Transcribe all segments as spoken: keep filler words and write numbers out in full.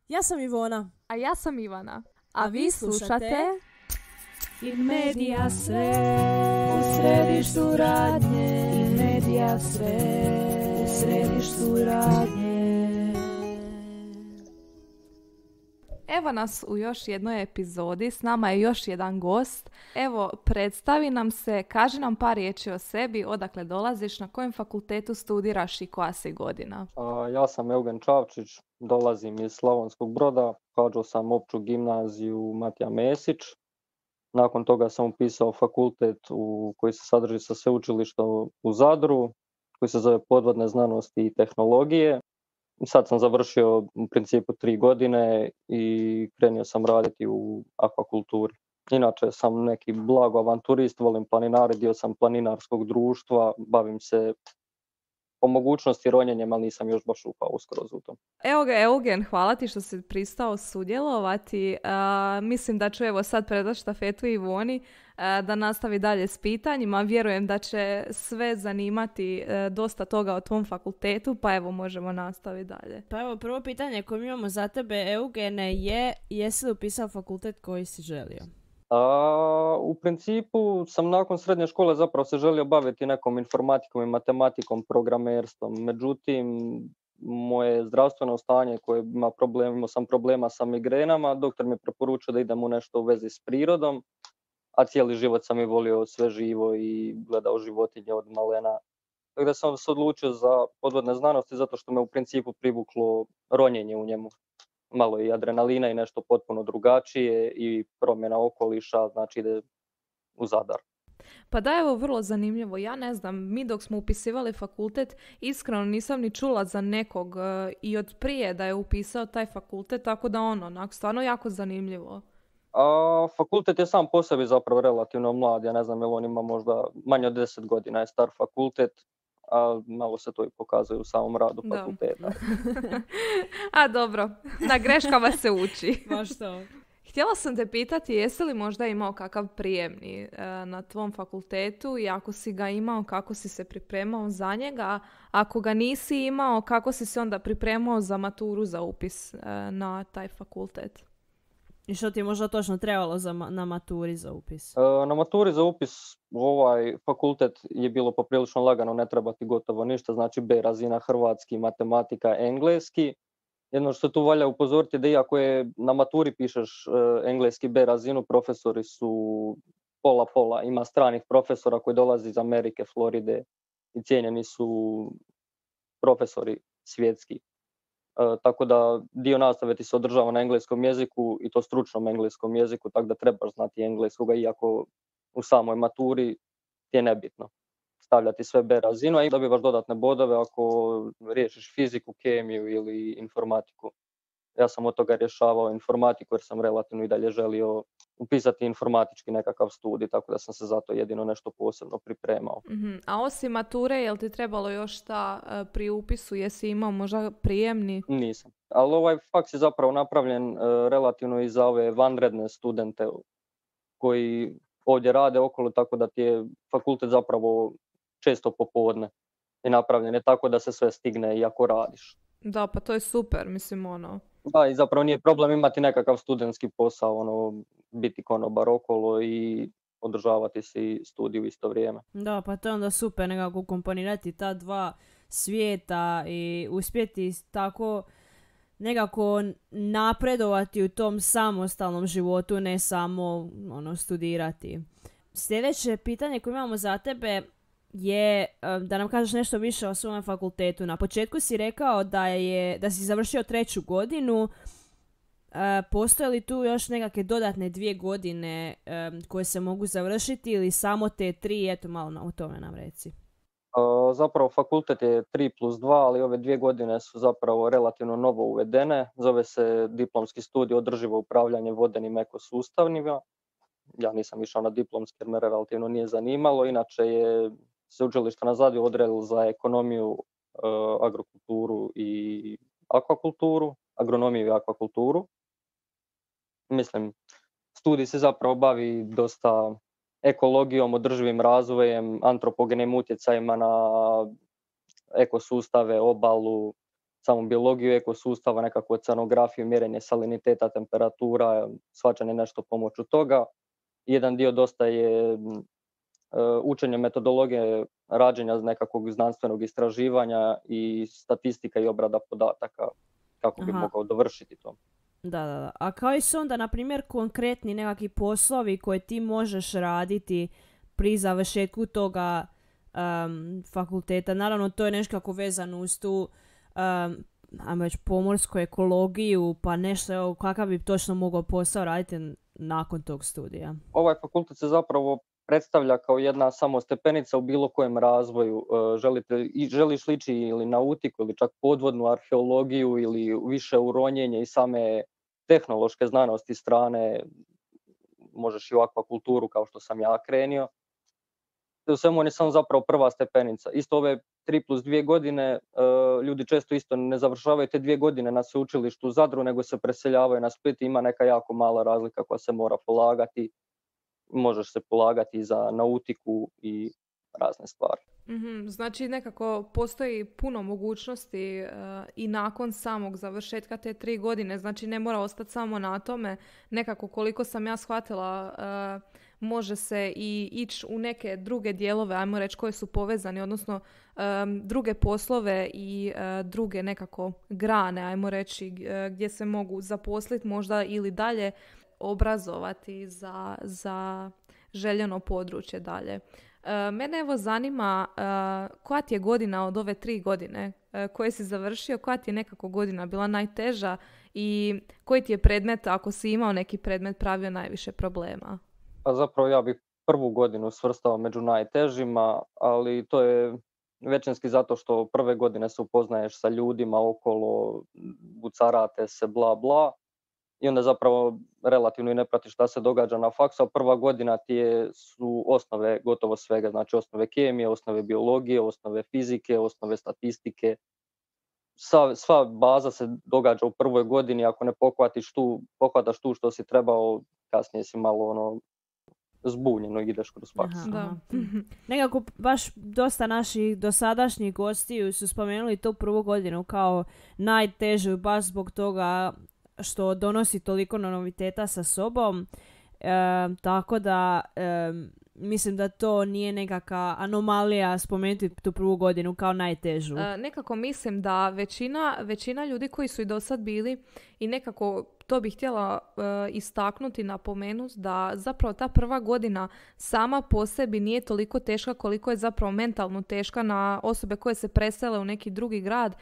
Ja sam Ivona. A ja sam Ivana. A, A vi vi slušate... slušate In media sve u središtu radnje. In media sve u središtu radnje. Evo nas u još jednoj epizodi, s nama je još jedan gost. Evo, predstavi nam se, kaži nam par riječi o sebi, odakle dolaziš, na kojem fakultetu studiraš i koja si godina. A, ja sam Eugen Čavčić, dolazim iz Slavonskog Broda, pohađao sam opću gimnaziju Matija Mesić. Nakon toga sam upisao fakultet u koji se sadrži sa sveučilištem u Zadru, koji se zove Podvodne znanosti i tehnologije. Sad sam završio u principu tri godine i krenio sam raditi u akvakulturi. Inače sam neki blago avanturist, volim planinari, dio sam planinarskog društva, bavim se po mogućnosti ronjenjem, ali nisam još baš upao uskroz u to. Evo ga, Eugen, hvala ti što si pristao sudjelovati. Uh, mislim da ću evo sad predati štafetu Ivoni uh, da nastavi dalje s pitanjima. Vjerujem da će sve zanimati uh, dosta toga o tvom fakultetu, pa evo možemo nastaviti dalje. Pa evo, prvo pitanje koje mi imamo za tebe, Eugene, je jesi li upisao fakultet koji si želio? A, u principu sam nakon srednje škole zapravo se želio baviti nekom informatikom i matematikom, programerstvom. Međutim, moje zdravstveno stanje koje ima problem, imao sam problema sa migrenama, doktor mi je preporučio da idem u nešto u vezi s prirodom, a cijeli život sam i volio sve živo i gledao životinje od malena. Tako da sam se odlučio za podvodne znanosti zato što me u principu privuklo ronjenje u njemu. Malo i adrenalina i nešto potpuno drugačije i promjena okoliša, znači ide u Zadar. Pa da, evo, vrlo zanimljivo. Ja ne znam, mi dok smo upisivali fakultet, iskreno nisam ni čula za nekog uh, i od prije da je upisao taj fakultet, tako da ono, onak, stvarno jako zanimljivo. A, fakultet je sam po sebi zapravo relativno mlad, ja ne znam, jel on ima možda manje od deset godina je star fakultet, a malo se to i pokazuje u samom radu fakulteta. A dobro, na greškama se uči. Baš to. Htjela sam te pitati, jesi li možda imao kakav prijemni e, na tvom fakultetu i ako si ga imao, kako si se pripremao za njega? Ako ga nisi imao, kako si se onda pripremao za maturu za upis e, na taj fakultet? I što ti je možda točno trebalo za ma- na maturi za upis? E, na maturi za upis ovaj fakultet je bilo poprilično lagano, ne treba ti gotovo ništa, znači B razina hrvatski, matematika, engleski. Jedno što tu valja upozoriti da iako je na maturi pišeš e, engleski B razinu, profesori su pola pola. Ima stranih profesora koji dolaze iz Amerike, Floride i cijenjeni su profesori svjetski. E, tako da dio nastave ti se održava na engleskom jeziku i to stručnom engleskom jeziku, tako da trebaš znati engleskoga iako u samoj maturi ti je nebitno stavljati sve B razinu, a dobivaš dodatne bodove ako riješiš fiziku, kemiju ili informatiku. Ja sam od toga rješavao informatiku jer sam relativno i dalje želio upisati informatički nekakav studij, tako da sam se zato jedino nešto posebno pripremao. Mm-hmm. A osim mature, je li ti trebalo još šta uh, pri upisu? Jesi imao možda prijemni? Nisam. Ali ovaj faks je zapravo napravljen uh, relativno i za ove vanredne studente koji ovdje rade okolo, tako da ti je fakultet zapravo često popodne i napravljen je tako da se sve stigne i ako radiš. Da, pa to je super, mislim ono. Da, i zapravo nije problem imati nekakav studentski posao, ono, biti konobar okolo i održavati si studij u isto vrijeme. Da, pa to je onda super nekako komponirati ta dva svijeta i uspjeti tako nekako napredovati u tom samostalnom životu, ne samo ono, studirati. Sljedeće pitanje koje imamo za tebe je da nam kažeš nešto više o svom fakultetu. Na početku si rekao da, je, da si završio treću godinu. E, postoje li tu još nekakve dodatne dvije godine e, koje se mogu završiti ili samo te tri? Eto, malo o tome nam reci. Uh, zapravo fakultet je tri plus dva, ali ove dvije godine su zapravo relativno novo uvedene. Zove se diplomski studij održivo upravljanje vodenim ekosustavima. Ja nisam išao na diplomski jer me relativno nije zanimalo. Inače je sveučilište na Zadru odredilo za ekonomiju, uh, agrokulturu i akvakulturu, agronomiju i akvakulturu. Mislim, studij se zapravo bavi dosta ekologijom, održivim razvojem, antropogenim utjecajima na ekosustave, obalu, samu biologiju ekosustava, nekakvu oceanografiju, mjerenje saliniteta, temperatura, shvaćanje nešto pomoću toga. Jedan dio dosta je uh, učenje metodologije rađenja nekakvog znanstvenog istraživanja i statistika i obrada podataka kako bi Aha. mogao dovršiti to. Da, da, da. A koji su onda, na primjer, konkretni nekakvi poslovi koje ti možeš raditi pri završetku toga um, fakulteta? Naravno, to je nešto kako vezano uz tu um, ajmo reći, pomorsku ekologiju, pa nešto, evo, kakav bi točno mogao posao raditi n- nakon tog studija? Ovaj fakultet se zapravo predstavlja kao jedna samo stepenica u bilo kojem razvoju. E, Želite, i želiš lići ili nautiku ili čak podvodnu arheologiju ili više uronjenje i same tehnološke znanosti strane, možeš i u akvakulturu kao što sam ja krenio. U svemu on je samo zapravo prva stepenica. Isto ove tri plus dvije godine, e, ljudi često isto ne završavaju te dvije godine na sveučilištu u Zadru, nego se preseljavaju na Split. Ima neka jako mala razlika koja se mora polagati. Možeš se polagati za nautiku i razne stvari. Mhm, znači nekako postoji puno mogućnosti e, i nakon samog završetka te tri godine, znači ne mora ostati samo na tome. Nekako koliko sam ja shvatila, e, može se i ići u neke druge dijelove, ajmo reći, koje su povezani, odnosno e, druge poslove i e, druge nekako grane, ajmo reći, e, gdje se mogu zaposliti možda ili dalje obrazovati za, za željeno područje dalje. E, Mene evo zanima e, koja ti je godina od ove tri godine e, koje si završio, koja ti je nekako godina bila najteža i koji ti je predmet, ako si imao neki predmet, pravio najviše problema? Pa zapravo ja bih prvu godinu svrstao među najtežima, ali to je većinski zato što prve godine se upoznaješ sa ljudima okolo, bucarate se, bla bla, i onda zapravo relativno i ne pratiš šta se događa na faksu, a prva godina ti je, su osnove gotovo svega, znači osnove kemije, osnove biologije, osnove fizike, osnove statistike. Sva, sva baza se događa u prvoj godini, ako ne pohvatiš tu, pohvataš tu što si trebao, kasnije si malo ono zbunjeno i ideš kroz faks. Aha, Da. aha. Nekako baš dosta naših dosadašnjih gostiju su spomenuli tu prvu godinu kao najtežu baš zbog toga što donosi toliko noviteta sa sobom. E, tako da e, mislim da to nije nekakva anomalija spomenuti tu prvu godinu kao najtežu. E, nekako mislim da većina, većina ljudi koji su i do sad bili i nekako to bih htjela e, istaknuti, napomenuti da zapravo ta prva godina sama po sebi nije toliko teška koliko je zapravo mentalno teška na osobe koje se presele u neki drugi grad,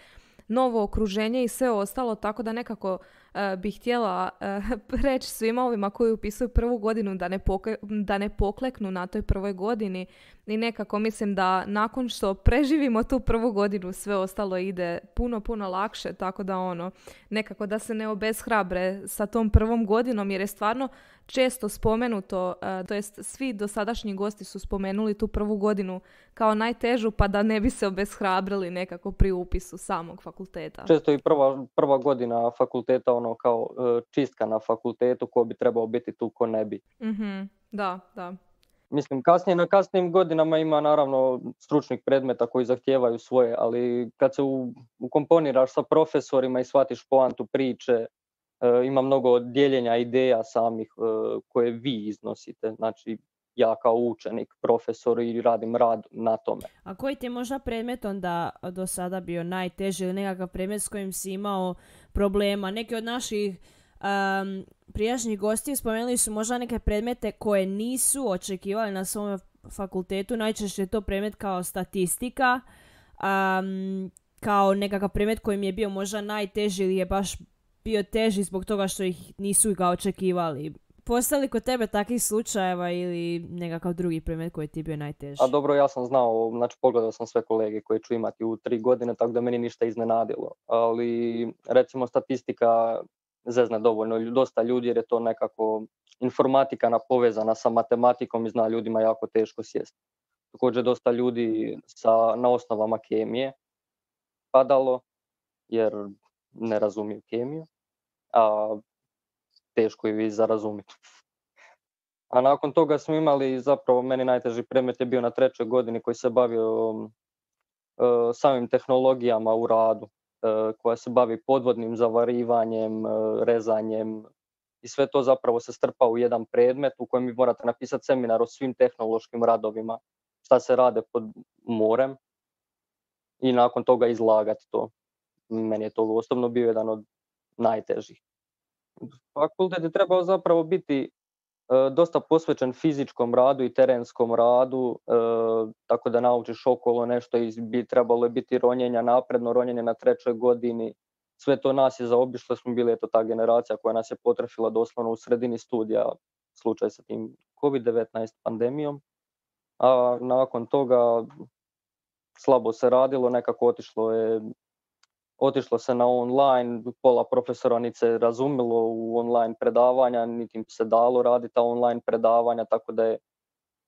novo okruženje i sve ostalo, tako da nekako e, bih htjela e, reći svima ovima koji upisuju prvu godinu da ne, poke- da ne pokleknu na toj prvoj godini i nekako mislim da nakon što preživimo tu prvu godinu sve ostalo ide puno, puno lakše, tako da ono, nekako da se ne obeshrabre sa tom prvom godinom jer je stvarno često spomenuto, e, to jest svi dosadašnji gosti su spomenuli tu prvu godinu kao najtežu pa da ne bi se obeshrabrili nekako pri upisu samog fakulteta. Često i prva, prva godina fakulteta ono kao e, čistka na fakultetu, ko bi trebao biti tu, ko ne bi. Mhm, da, da. Mislim, kasnije na kasnijim godinama ima naravno stručnih predmeta koji zahtijevaju svoje, ali kad se u, ukomponiraš sa profesorima i shvatiš poantu priče, e, ima mnogo dijeljenja ideja samih e, koje vi iznosite. Znači, ja kao učenik, profesor i radim rad na tome. A koji ti je možda predmet onda do sada bio najteži ili nekakav predmet s kojim si imao problema? Neki od naših um, prijašnjih gostiju spomenuli su možda neke predmete koje nisu očekivali na svom fakultetu. Najčešće je to predmet kao statistika, um, kao nekakav predmet koji mi je bio možda najteži ili je baš bio teži zbog toga što ih nisu ga očekivali. Postoji li kod tebe takvih slučajeva ili nekakav drugi predmet koji ti je bio najteži? A dobro, ja sam znao, znači pogledao sam sve kolege koje ću imati u tri godine, tako da meni ništa iznenadilo. Ali recimo statistika zezne dovoljno dosta ljudi jer je to nekako informatika povezana sa matematikom i zna ljudima jako teško sjesti. Također dosta ljudi sa, na osnovama kemije padalo jer ne razumiju kemiju, a teško je i za razumjeti. A nakon toga smo imali, zapravo meni najteži predmet je bio na trećoj godini koji se bavio uh, samim tehnologijama u radu. koja se bavi podvodnim zavarivanjem, rezanjem i sve to zapravo se strpa u jedan predmet u kojem vi morate napisati seminar o svim tehnološkim radovima, šta se rade pod morem i nakon toga izlagati to. Meni je to osobno bio jedan od najtežih. Fakultet je trebao zapravo biti e, dosta posvećen fizičkom radu i terenskom radu, e, tako da naučiš okolo nešto i bi trebalo je biti ronjenja, napredno ronjenje na trećoj godini. Sve to nas je zaobišlo, smo bili eto ta generacija koja nas je potrefila doslovno u sredini studija, slučaj sa tim kovid devetnaest pandemijom. A nakon toga slabo se radilo, nekako otišlo je Otišlo se na online, pola profesora niti se razumilo u online predavanja, niti im se dalo raditi ta online predavanja, tako da je,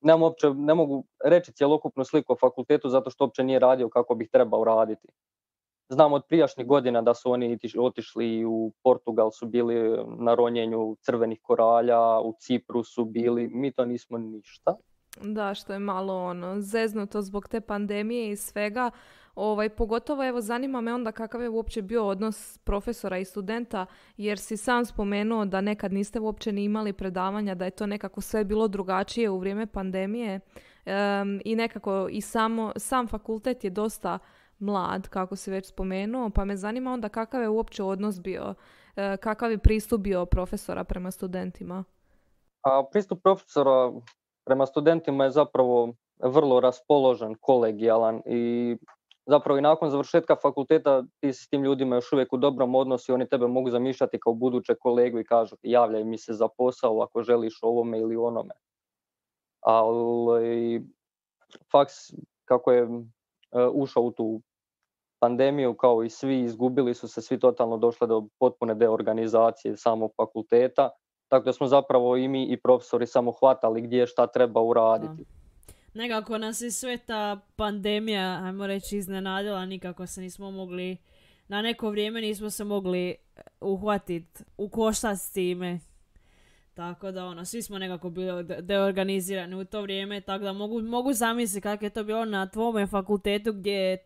nemam uopće, ne mogu reći cjelokupnu sliku o fakultetu zato što uopće nije radio kako bih trebao raditi. Znam od prijašnjih godina da su oni otišli u Portugal, su bili na ronjenju crvenih koralja, u Cipru su bili, mi to nismo ništa. Da, što je malo ono zeznuto zbog te pandemije i svega. Ovaj, pogotovo evo zanima me onda kakav je uopće bio odnos profesora i studenta, jer si sam spomenuo da nekad niste uopće ni imali predavanja, da je to nekako sve bilo drugačije u vrijeme pandemije um, i nekako i samo, sam fakultet je dosta mlad, kako si već spomenuo, pa me zanima onda kakav je uopće odnos bio, uh, kakav je pristup bio profesora prema studentima? A pristup profesora prema studentima je zapravo vrlo raspoložen, kolegijalan i zapravo i nakon završetka fakulteta ti si s tim ljudima još uvijek u dobrom odnosu i oni tebe mogu zamišljati kao buduće kolegu i kažu javljaj mi se za posao ako želiš ovome ili onome. Ali faks kako je ušao u tu pandemiju kao i svi, izgubili su se svi totalno, došle do potpune deorganizacije samog fakulteta, tako da smo zapravo i mi i profesori samo hvatali gdje šta treba uraditi. Da. Nekako nas je sve ta pandemija, ajmo reći, iznenadila, nikako se nismo mogli, na neko vrijeme nismo se mogli uhvatiti u koštac s time. Tako da ono, svi smo nekako bili deorganizirani u to vrijeme, tako da mogu, mogu zamisliti kako je to bilo na tvome fakultetu gdje je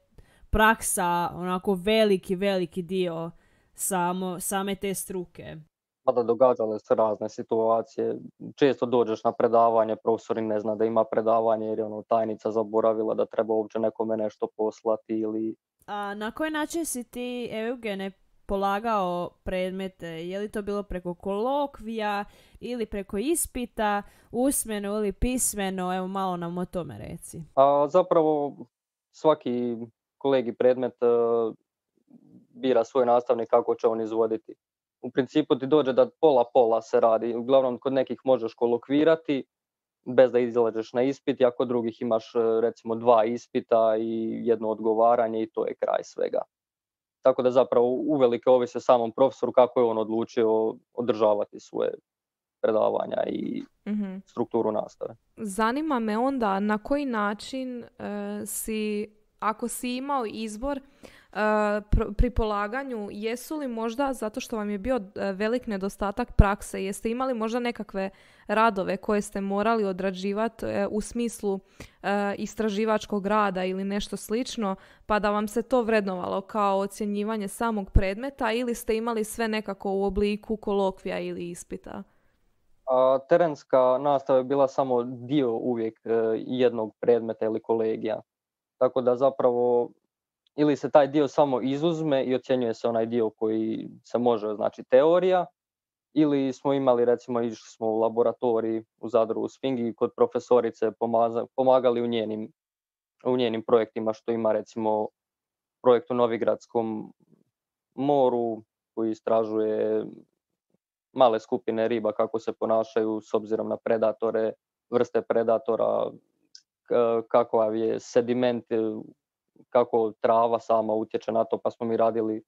praksa onako veliki, veliki dio samo, same te struke. Tada događale se razne situacije. Često dođeš na predavanje, profesori ne zna da ima predavanje jer je ono, tajnica zaboravila da treba uopće nekome nešto poslati ili... A na koji način si ti, Eugene, polagao predmete? Je li to bilo preko kolokvija ili preko ispita, usmeno ili pismeno? Evo malo nam o tome reci. A zapravo svaki kolegi predmet uh, bira svoj nastavnik kako će on izvoditi. U principu ti dođe da pola-pola se radi. Uglavnom kod nekih možeš kolokvirati bez da izlažeš na ispit, a kod drugih imaš recimo dva ispita i jedno odgovaranje i to je kraj svega. Tako da zapravo uvelike ovisi o samom profesoru kako je on odlučio održavati svoje predavanja i mm-hmm. strukturu nastave. Zanima me onda na koji način uh, si, ako si imao izbor Uh, pr- pri polaganju, jesu li možda, zato što vam je bio uh, velik nedostatak prakse, jeste imali možda nekakve radove koje ste morali odrađivati uh, u smislu uh, istraživačkog rada ili nešto slično, pa da vam se to vrednovalo kao ocjenjivanje samog predmeta ili ste imali sve nekako u obliku kolokvija ili ispita? A, terenska nastava je bila samo dio uvijek uh, jednog predmeta ili kolegija. Tako da zapravo ili se taj dio samo izuzme i ocjenjuje se onaj dio koji se može, znači teorija, ili smo imali, recimo, išli smo u laboratoriji u Zadru u Sfingi kod profesorice pomaza, pomagali u njenim, u njenim projektima, što ima recimo projekt u Novigradskom moru koji istražuje male skupine riba kako se ponašaju s obzirom na predatore, vrste predatora, kakav je sediment, kako trava sama utječe na to, pa smo mi radili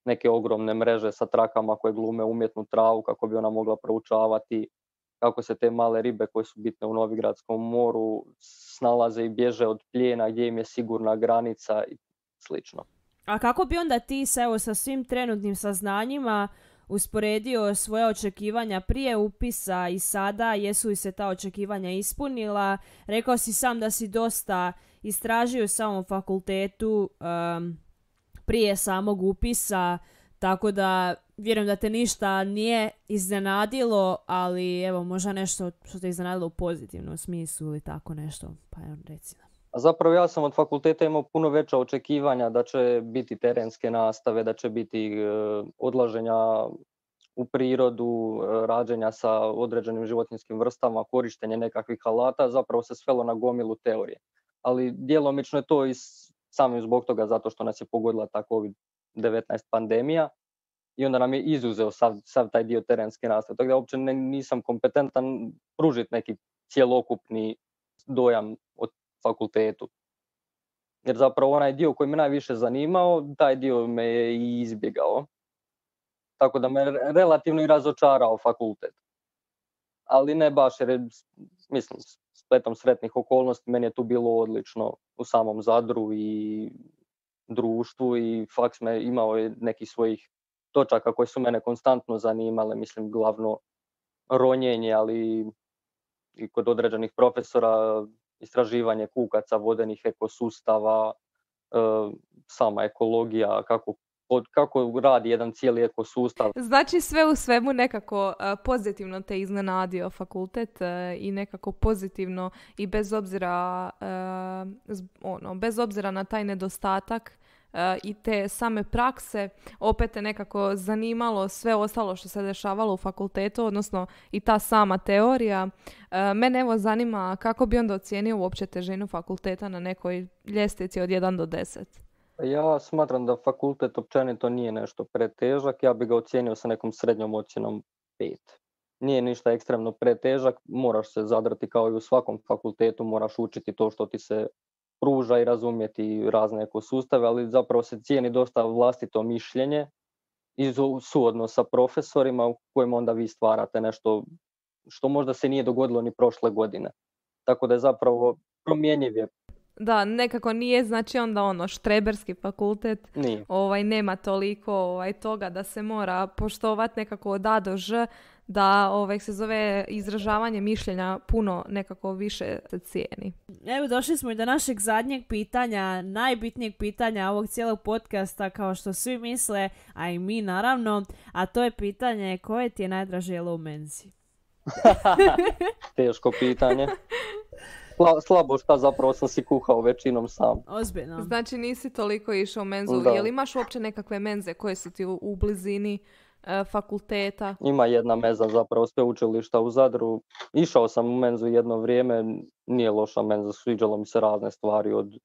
neke ogromne mreže sa trakama koje glume umjetnu travu kako bi ona mogla proučavati kako se te male ribe koje su bitne u Novigradskom moru snalaze i bježe od plijena, gdje im je sigurna granica i slično. A kako bi onda ti sa, evo, sa svim trenutnim saznanjima usporedio svoje očekivanja prije upisa i sada, jesu li se ta očekivanja ispunila? Rekao si sam da si dosta istražio u samom fakultetu um, prije samog upisa, tako da vjerujem da te ništa nije iznenadilo, ali evo možda nešto što te iznenadilo u pozitivnom smislu ili tako nešto, pa evo reci nam. A zapravo ja sam od fakulteta imao puno veća očekivanja da će biti terenske nastave, da će biti e, odlaženja u prirodu, e, rađenja sa određenim životinjskim vrstama, korištenje nekakvih alata, zapravo se svelo na gomilu teorije. Ali djelomično je to i samim zbog toga zato što nas je pogodila ta kovid devetnaest pandemija i onda nam je izuzeo sav, sav taj dio terenske nastave. Tako da uopće ne, nisam kompetentan pružiti neki cjelokupni dojam od fakultetu. Jer zapravo onaj dio koji me najviše zanimao, taj dio me je i izbjegao. Tako da me relativno i razočarao fakultet. Ali ne baš jer je, mislim, spletom sretnih okolnosti meni je tu bilo odlično u samom Zadru i društvu i faks me imao je nekih svojih točaka koje su mene konstantno zanimale, mislim glavno ronjenje, ali i kod određenih profesora istraživanje kukaca, vodenih ekosustava, e, sama ekologija, kako, od, kako radi jedan cijeli ekosustav. Znači sve u svemu nekako uh, pozitivno te iznenadio fakultet uh, i nekako pozitivno i bez obzira, uh, ono, bez obzira na taj nedostatak uh, i te same prakse, opet te nekako zanimalo sve ostalo što se dešavalo u fakultetu, odnosno i ta sama teorija. Uh, mene evo zanima kako bi onda ocijenio uopće težinu fakulteta na nekoj ljestvici od jedan do deset. Ja smatram da fakultet općenito nije nešto pretežak, ja bi ga ocijenio sa nekom srednjom ocjenom pet. Nije ništa ekstremno pretežak, moraš se zadrti kao i u svakom fakultetu, moraš učiti to što ti se pruža i razumjeti razne ekosustave, ali zapravo se cijeni dosta vlastito mišljenje i suodnos sa profesorima u kojem onda vi stvarate nešto što možda se nije dogodilo ni prošle godine. Tako da je zapravo promjenjiv je. Da, nekako nije, znači onda ono štreberski fakultet, Nije. ovaj, nema toliko ovaj, toga da se mora poštovati nekako od A do Ž, da ovaj, se zove izražavanje mišljenja puno nekako više se cijeni. Evo došli smo i do našeg zadnjeg pitanja, najbitnijeg pitanja ovog cijelog podcasta, kao što svi misle, a i mi naravno, a to je pitanje koje ti je najdraže jelo u menzi? Teško pitanje. Slabo šta zapravo sam si kuhao većinom sam. Ozbiljno. Znači nisi toliko išao u menzu. Da. Jel imaš uopće nekakve menze koje su ti u, u blizini e, fakulteta? Ima jedna menza zapravo sveučilišta u Zadru. Išao sam u menzu jedno vrijeme, nije loša menza, sviđalo mi se razne stvari od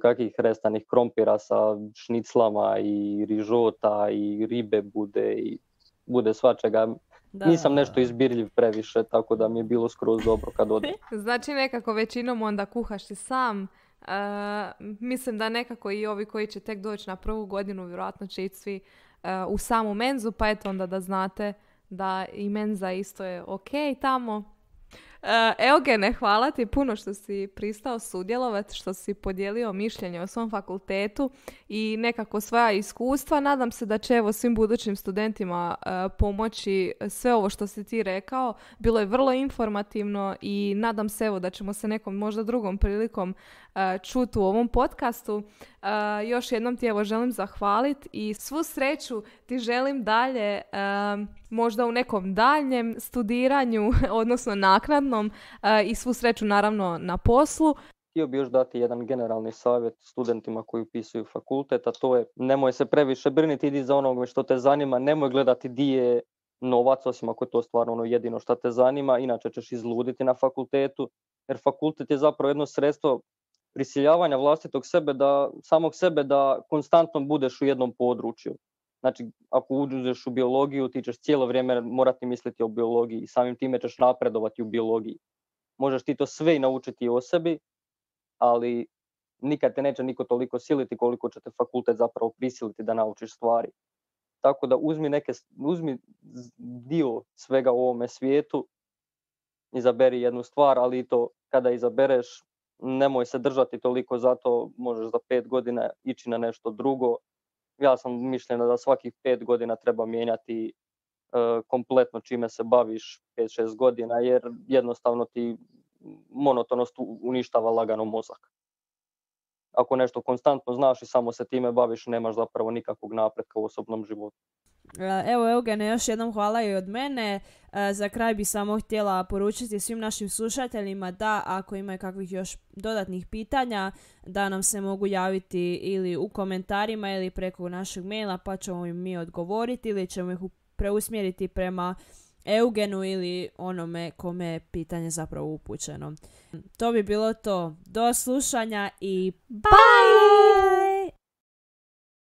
kakvih restanih krompira sa šniclama i rižota i ribe bude i bude svačega. Da. Nisam nešto izbirljiv previše, tako da mi je bilo skroz dobro kad odem. Znači nekako većinom onda kuhaš ti sam. E, mislim da nekako i ovi koji će tek doći na prvu godinu vjerojatno će ići svi e, u samu menzu, pa eto onda da znate da i menza isto je ok tamo. E, Eugene, hvala ti puno što si pristao sudjelovati, što si podijelio mišljenje o svom fakultetu i nekako svoja iskustva. Nadam se da će evo svim budućim studentima e, pomoći sve ovo što si ti rekao. Bilo je vrlo informativno i nadam se evo da ćemo se nekom možda drugom prilikom e, čuti u ovom podcastu. E, još jednom ti evo želim zahvaliti i svu sreću ti želim dalje, e, možda u nekom daljnjem studiranju, odnosno naknadnom, e, i svu sreću naravno na poslu. Htio bi još dati jedan generalni savjet studentima koji upisuju fakultet, a to je nemoj se previše brinuti, idi za onoga što te zanima, nemoj gledati di je novac, osim ako je to stvarno ono jedino što te zanima, inače ćeš izluditi na fakultetu, jer fakultet je zapravo jedno sredstvo prisiljavanja vlastitog sebe da, samog sebe da konstantno budeš u jednom području. Znači, ako uđeš u biologiju, ti ćeš cijelo vrijeme morati misliti o biologiji i samim time ćeš napredovati u biologiji. Možeš ti to sve i naučiti o sebi, ali nikad te neće niko toliko siliti koliko će te fakultet zapravo prisiliti da naučiš stvari. Tako da uzmi, neke, uzmi dio svega u ovome svijetu, izaberi jednu stvar, ali to kada izabereš, nemoj se držati toliko, zato možeš za pet godina ići na nešto drugo. Ja sam mišljena da svakih pet godina treba mijenjati e, kompletno čime se baviš pet šest godina, jer jednostavno ti monotonost uništava lagano mozak. ako nešto konstantno znaš i samo se time baviš, nemaš zapravo nikakvog napretka u osobnom životu. Evo Eugene, još jednom hvala i od mene. Za kraj bi samo htjela poručiti svim našim slušateljima da ako imaju kakvih još dodatnih pitanja, da nam se mogu javiti ili u komentarima ili preko našeg maila, pa ćemo im mi odgovoriti ili ćemo ih preusmjeriti prema Eugenu ili onome kome je pitanje zapravo upućeno. To bi bilo to. Do slušanja i bye!